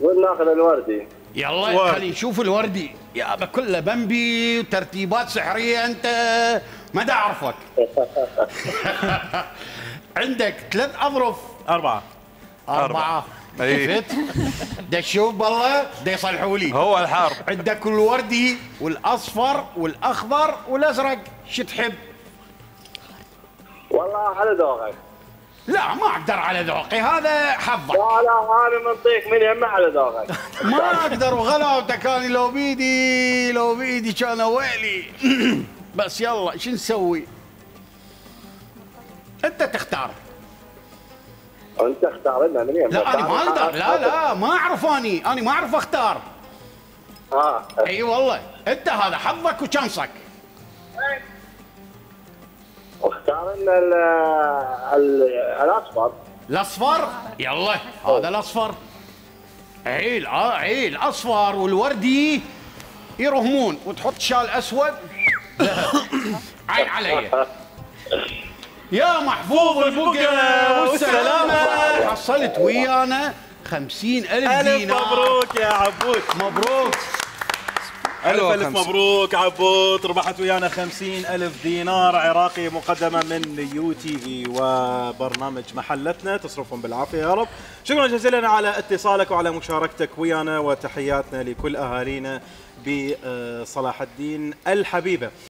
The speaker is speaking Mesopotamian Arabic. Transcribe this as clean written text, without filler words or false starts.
وناخذ الوردي. يلا خلينا نشوف الوردي. يا كله بمبي وترتيبات سحريه انت ما دا اعرفك. عندك 3 اظرف. 4. شفت؟ شوف بالله دا يصلحوا لي. هو الحار. عندك الوردي والاصفر والاخضر والازرق، شو تحب؟ والله على ذوقك. لا ما اقدر على ذوقي، هذا حظك. لا انا منطيك من يمه على ذوقك. ما اقدر وغلاوتك، انا لو بيدي كان ويلي. بس يلا شو نسوي؟ انت تختار. انت اختار لنا من يمه. لا انا ما اقدر، لا ما اعرف، انا ما اعرف اختار. اي والله انت هذا حظك وشانسك. واختار لنا الاصفر. الاصفر يلا، هذا الاصفر. عيل اصفر والوردي يرهمون، وتحط شال اسود. عين علي يا محفوظ البقى والسلامة. حصلت ويانا 50,000 دينار. مبروك يا عبود، مبروك. ألف مبروك عبود، ربحت ويانا 50,000 دينار عراقي مقدمة من يو تي في وبرنامج محلتنا. تصرفهم بالعافية يا رب. شكرا جزيلا على اتصالك وعلى مشاركتك ويانا، وتحياتنا لكل أهالينا بصلاح الدين الحبيبة.